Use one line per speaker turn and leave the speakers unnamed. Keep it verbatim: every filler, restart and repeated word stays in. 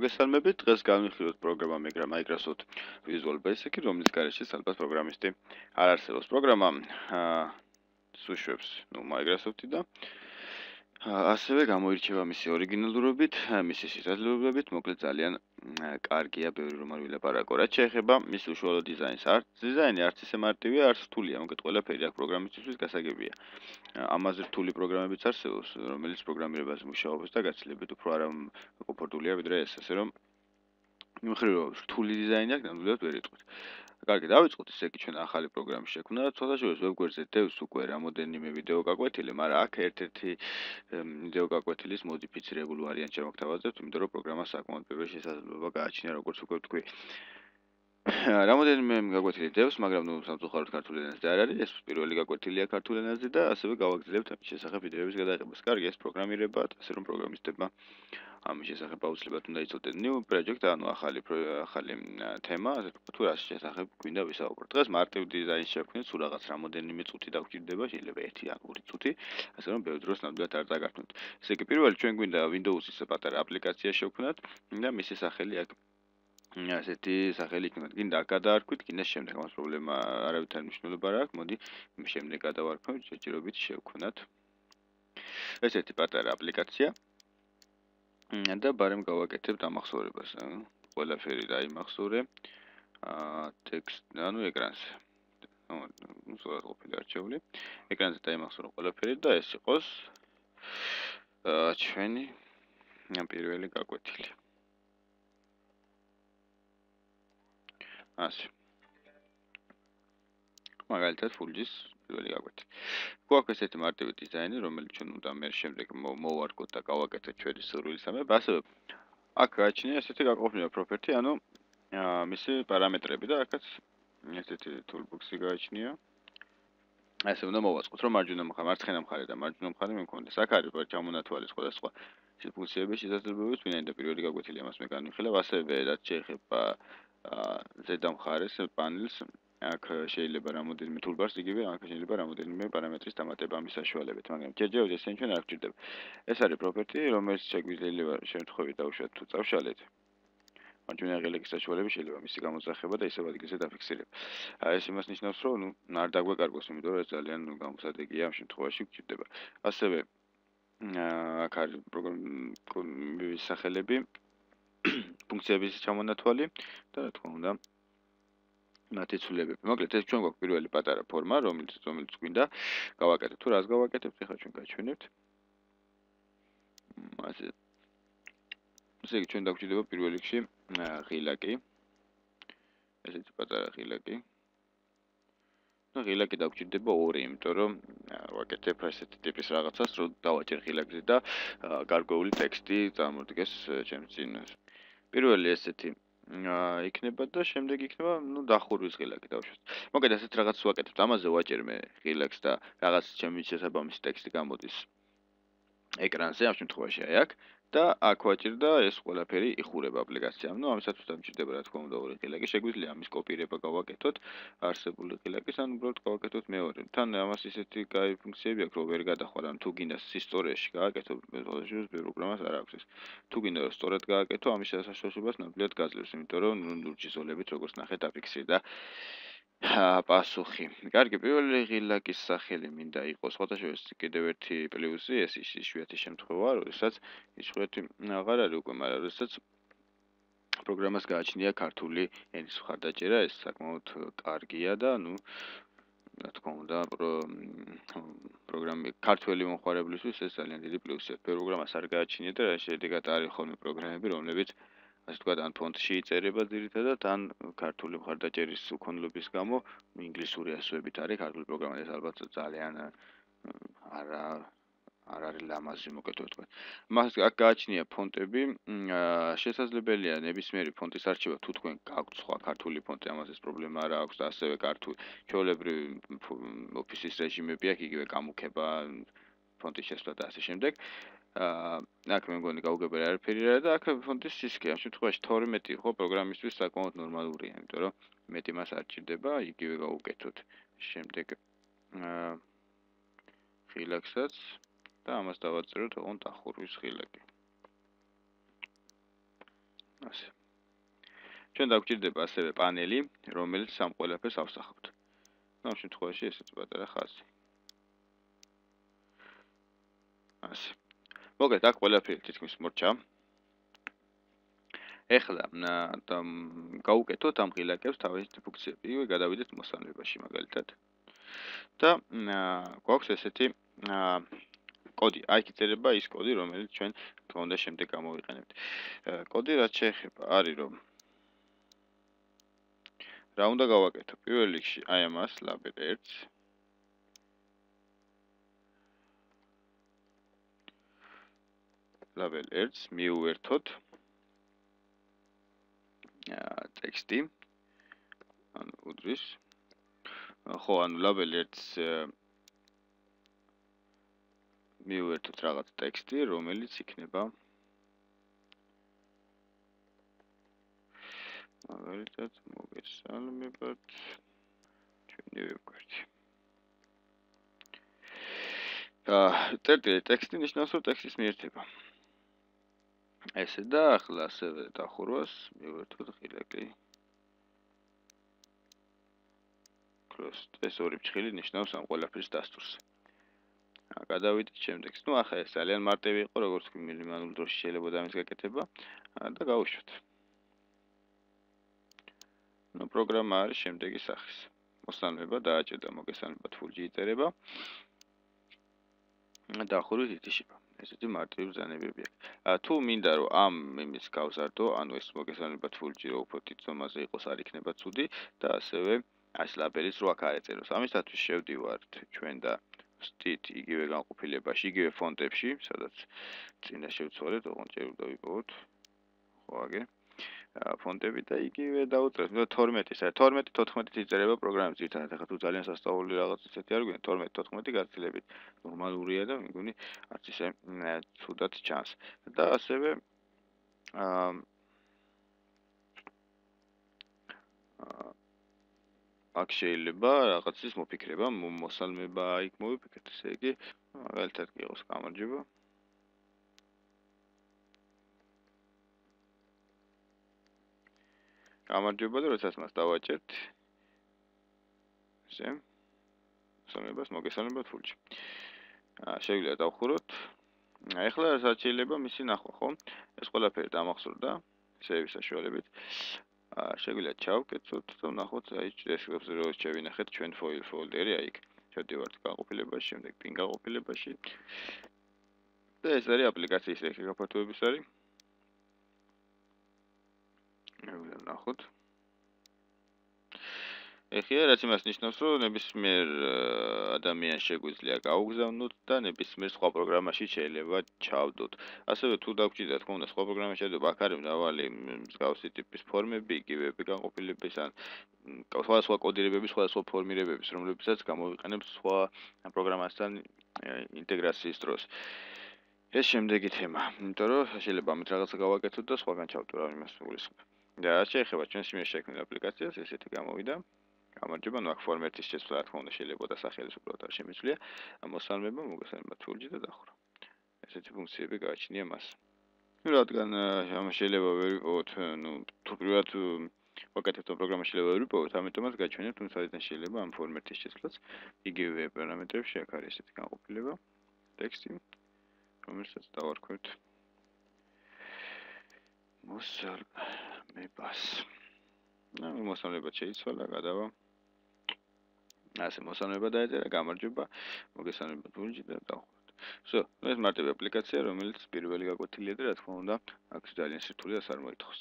მოგესალმებით, დღეს განვიხილოთ პროგრამა Microsoft Visual Basic, რომლის გარეშე ალბათ პროგრამისტი არ არსებობს. პროგრამა სუშვებს, ну, Microsoft-ი და ასევე გამოირჩევა მისი ორიგინალურობით, მისი შესაძლებლობებით, მოკლედ ძალიან კარგია, ბევრი რომ არ ვილაპარაკო. რაც შეეხება მის უშუალო დიზაინს, არც დიზაინი არც ისე მარტივია, არც რთულია, მოკლედ ყველაფერი აქ პროგრამისტისთვის გასაგებია. ამაზე რთული პროგრამებიც არსებობს, რომელიც პროგრამირებაზე მუშაობს და გაცილებით უფრო არაკომფორტულია ვიდრე ეს, ასე რომ მიუხედავად რომ რთული დიზაინი აქვს, ნამდვილად ვერ იტყვით. კარგი, დავიწყოთ ისე კი ჩვენ ახალი პროგრამის შექმნა, ცოტა შორის ვებგვერდზე დევს უკვე რამოდენიმე ვიდეო გაკვეთილი, მაგრამ აქ ერთ-ერთი ვიდეო გაკვეთილის მოდიფიცირებული ვარიანტი შემოგთავაზებთ, იმიტომ რომ პროგრამა საკმაოდ პირველი შესაძლებლობა გააჩნია, როგორც უკვე ვთქვი. რამოდენიმე გაკვეთილი დევს, მაგრამ ნუ სამწუხაროდ ქართულ ენაზე არ არის, ეს პირველი გაკვეთილია ქართულ ენაზე და ასევე გავაგრძელებთ ამის შესახებ ვიდეოების გადაღებას. კარგი, ეს პროგრამირება, ასე რომ პროგრამისტებმა ამის შესახებ აუცილებლად უნდა იცოდნენ new project, ანუ ახალი ახალი თემა, ასე ვთქვათ, თუ რას შესახებ გვინდა ვისაუბროთ. დღეს მარტივ დიზაინს შევქმნით, სულ რაღაც რამოდენიმე წუთი დაგჭირდება, შეიძლება ერთი ან ორი წუთი, ასე რომ ბევრ დროს ნამდვილად არ დაგართმევთ. ესე იგი, პირველი ჩვენ გვინდა Windows-ის პატარა აპლიკაცია შევქმნათ და მისი სახელი აქ ასეთი სახელი იქნება. გინდა გადაარქვით, გინდა შემდეგ ამას პრობლემა არავითარ მნიშვნელობა არ აქვს. მოდი შემდეგ გადავარქვით, შეჭირობით შევქმნათ. ეს ერთი პატარა აპლიკაცია და ბარემ გავაკეთებთ ამახსოვრებას. ყველაფერი დაიმახსოვრე. აა ტექსტ, ანუ ეკრანზე. ну, სწორად ყოფილი არჩეული. ეკრანზე დაიმახსოვრე ყველაფერი და ეს იყოს აა ჩვენი პირველი გაკვეთილი. ასე. მაგალითად, ფულჯის პირველი გაკვეთილი. გვაქვს ესეთი მარტივი დიზაინი, რომელიც ჩვენ უნდა მე შემდეგ მოვარგოთ და გავაკეთოთ ჩვენი სურვილისამებრ. ასევე აქ გააჩნია ესეთი გაყოფილი პროპერტი, ანუ მისი პარამეტრები და აქაც ესეთი toolbox-ი გააჩნია. ასე უნდა მოვაწყოთ, რომ მარჯვენა მხარე, მარცხენა მხარე და მარჯვენა მხარე მე მქონდეს. აქ არის ჩამონათვალი სხვადასხვა ფუნქციების შესაძლებლობებით, ვინაიდან პირველი გაკვეთილი ამას მე განვიხილავ, ასევე რაც შეეხება ზედა მხარეს პანელს, აქ შეიძლება რამოდენიმე toolbars იგივე, აქ შეიძლება რამოდენიმე პარამეტრის დამატება ამის საშუალებით, მაგრამ ჯერჯერობით ესენი ჩვენ არ გვჭირდება. ეს არის პროპერტი, რომელიც შეგვიძლია შემთხვევით დავუშვათ თუ წავშალეთ. მარჯვენა ღილაკის საშუალებით შეიძლება მისი გამოსახება და ისევ ადგილზე დაფიქსირება. ეს იმას ნიშნავს, რომ ნუ არ დაგვეკარგოს, იმიტომ რომ ეს ძალიან გამოსადეგია ამ შემთხვევაში გვჭირდება. ასევე აქ არის პროგრამის სახელები, ფუნქციების ჩამონათვალი და რა თქმა უნდა მათი ცვლილებები. მოკლედ ეს ჩვენ გვაქვს პირველი პატარა ფორმა, რომელიც რომელიც გვინდა გავაკეთოთ. თუ რას გავაკეთებთ, ეხლა ჩვენ გაჩვენებთ. ასე ესე იგი ჩვენ დაგვჭირდება პირველ რიგში ღილაკი. ესეთი პატარა ღილაკი. და ღილაკი დაგვჭირდება ორი, იმიტომ რომ ვაკეთებ ასეთი ტიპის რაღაცას, რომ დავაჭერ ღილაკზე და გარკვეული ტექსტი წარმოდგეს ჩემს წინ. პირველი ესეთი იქნება და შემდეგ იქნება, ну, დახურვის ღილაკი დავუშვათ. მოკლედ ასეთ რაღაცას ვაკეთებ. ამაზე ვაჭერ მე ღილაკს და რაღაც ჩემი შესაბამისი ტექსტი გამოდის ეკრანზე, ამ შემთხვევაში აი აქ და აქ ვაჭერ და ეს ყველაფერი იხურება აპლიკაციამ. ну, ამისათვის დამჭირდება რა თქმა უნდა ორი ღილაკი. შეგვიძლია ამის კოპირება გავაკეთოთ არსებული ღილაკის, ან უბრალოდ გავაკეთოთ მეორე. თან ამას ისეთი კაი ფუნქციები აქვს, რომ ვერ გადახვალ, ან თუ გინდა ისტორიაში გააკეთო, მეთოდოლოგიას პროგრამას არ აქვს ეს. თუ გინდა რომ სწორად გააკეთო, ამის შესაძლებლობას ნამდვილად გაძლევს, იმიტომ რომ ლურჯი ზოლებით როგორც ნახეთ აფიქსირდა და პასუხი. კარგი, პირველი ღილაკის სახელი მინდა იყოს, სხვადასხვა კიდევ ერთი პლუსი, ეს იშვიათი შემთხვევა, როდესაც იშვიათი აღარ არის უკვე, მაგრამ როდესაც პროგრამას გააჩნია ქართული ენის მხარდაჭერა, ეს საკმაოდ კარგია და ნუ რა თქმა უნდა, პროგრამი ქართველი მომხმარებლისთვის ეს ძალიან დიდი პლუსია. პროგრამას არ გააჩნია და შედეგად არის ხოლმე პროგრამები, რომლებიც ასე ვთქვათ, ან ფონტში იწერება ძირითადად, ან ქართული მხარდაჭერის უქონლობის გამო ინგლისური ასოებით არის ქართული პროგრამა, ეს ალბათ ძალიან არა არ არის ლამაზი, მოკეთ ვთქვათ. მას აქ გააჩნია ფონტები, შესაძლებელია ნებისმიერი ფონტის არჩევა, თუ თქვენ გაქვთ სხვა ქართული ფონტი, ამას ეს პრობლემა არ აქვს და ასევე ქართული ჩვეულებრივი ოფისის რეჟიმები აქვს, იგივე გამუქება, ფონტის შესვლა და ასე შემდეგ. აქ მე მგონი გაუგებარი არაფერი არა და აქ ფონტის სისქე, ამ შემთხვევაში თორმეტი ხო პროგრამისტვის საკმაოდ ნორმალურია, იმიტომ რომ მეტი მას არ ჭირდება, იგივე გავუკეთოთ. შემდეგ ღილაკსაც და ამას დავაწეროთ ოღონდ დახურვის ღილაკი. ასე. ჩვენ დაგვჭირდება ასევე პანელი, რომელიც ამ ყველაფერს ავსახავთ. ამ შემთხვევაში ესეც პატარა ხაზი. ასე. მოგეთ, აქ ყველაფერი თითქმის მორჩა. ეხლა გავუკეთოთ ამ ღილაკებს თავისი ფუნქციები, იგივე გადავიდეთ მოსალმებაში მაგალითად. და გვაქვს ესეთი კოდი, აი იწერება ის კოდი, რომელიც ჩვენ თქო უნდა შემდეგ გამოვიყენებთ. კოდი რაც შეეხება არის რომ რა უნდა გავაკეთო? პირველ რიგში აი ამას label ერთს label ერთს მიუერთოთ ტექსტი ანუ უდრის ხო ანუ label ერთს მიუერთოთ რაღაც ტექსტი, რომელიც იქნება მაგალითად მოგესალმებათ ჩვენი ვებგვერდი. წერტილი ტექსტი ნიშნავს რომ ტექსტის მიერთება. ესე და ახლა ასევე დახურვას მივერთოთ ღილაკი. crossed ეს ორი ფრჩხილი ნიშნავს ამ ყველაფრის დასტურს. გადავიდეთ შემდეგს. ნუ ახლა ეს ძალიან მარტივი იყო, როგორც კი მინიმალურ დროში შეიძლება ამის გაკეთება და გავუშვათ. ნუ პროგრამა არის შემდეგი სახის. მოსალმება დააჭერდა მოგესალმებათ ფულჯი იწერება. დახურვით ითიშება. ესეთი მარტივი ბრძანებები აქვს. თუ მინდა რომ ამ იმის გავზარდო, ანუ ეს მოგესალმებათ ფულჯი რო უფრო დიდ ზომაზე იყოს, არ იქნება ცუდი და ასევე ეს ლაბელის რო აქ არ ეწეროს. ამისათვის შევდივართ ჩვენ და ვსტით იგივე განყოფილებაში, იგივე ფონტებში, სადაც წინა შევცვალეთ, ოღონდ ჯერ უნდა ვიპოვოთ. ხო აგე. ფონტები და იგივე დაუწერეთ. თორმეტი, თორმეტი თოთხმეტით იწერება პროგრამის ძირითადად. ახლა თუ ძალიან სასწაული რაღაც ისეთი არ გვინდა, თორმეტი თოთხმეტი გაცილებით ნორმალურია და მეგონი არც ისე ცუდად ჩანს. და ასევე აა აქ შეიძლება რაღაცის მოფიქრება, მოსალმება იქ მოვიფიქრეთ, ესე იგი, მაგალითად კი იყოს გამარჯობა. გამარჯობა და როდესაც მას დავაჭერთ ესე მოსალმებას მოგესალმებათ ფულჯი. შეგვიძლია დავხუროთ. ეხლა რაც შეიძლება მისი ნახვა, ხო? ეს ყველაფერი დამახსოვრდა სეივის საშუალებით. შეგვიძლია ჩავკეცოთ და ვნახოთ აი ეს როდის შევინახეთ ჩვენ ფაილ ფოლდერი აი იქ. შევდივართ განყოფილებაში, შემდეგ პინ განყოფილებაში. და ეს არის აპლიკაციის ეხი გაფართოების არის. ვნახოთ. ეხლა რაც იმას ნიშნავს, რომ ნებისმიერ ადამიანს შეგვიძლია გაუგზავნოთ და ნებისმიერ სხვა პროგრამაში შეიძლება ჩავდოთ. ასევე თუ დაგვჭირდა თქო უნდა სხვა პროგრამაში ჩავდოთ, აქ არის მრავალი მსგავსი ტიპის ფორმები, იგივე განყოფილების ან სხვადასხვა კოდირებების, სხვადასხვა ფორმირებების, რომლებიცაც გამოვიყენებთ სხვა პროგრამასთან ინტეგრაციის დროს. ეს შემდეგი თემა, იმიტომ რომ შეიძლება ამით რაღაცა გავაკეთოთ და სხვაგან ჩავდო რა იმას გულისხმობ. და შეეხება ჩვენს იმეს შექმნილ აპლიკაციას, ესეთი გამოვიდა. გამარჯობა, ნუ აქ ფორმატის შეცვლა რა თქმა უნდა შეიძლება და სახელის უბრალოდ არ შემიძლია. მოსალმება მოგესალმებათ ფულჯი და დახურვა. ესეთი ფუნქციები გააჩნია მას. ნუ რადგან ამას შეიძლება ვერ ვიპოვოთ, ნუ თუ პირველად ვაკეთებთ ამ პროგრამას შეიძლება ვერ ვიპოვოთ, ამიტომაც გაჩვენებთ, თუმცა საერთოდ შეიძლება ამ ფორმატის შეცვლაც იგივე პარამეტრებში აქ არის ესეთი განყოფილება, ტექსტი, რომელსაც დავარქვევთ მოსალმებას. ნუ მოსალმება შეიცვალა, გადავა. ასე მოსალმება დაეწერა, გამარჯობა, მოგესალმებათ ფულჯი და დავხუროთ. ვსო, ეს მარტივი აპლიკაცია, რომელიც პირველი გაკვეთილია და რა თქმა უნდა, აქ ძალიან სირთულეას არ მოითხოვს.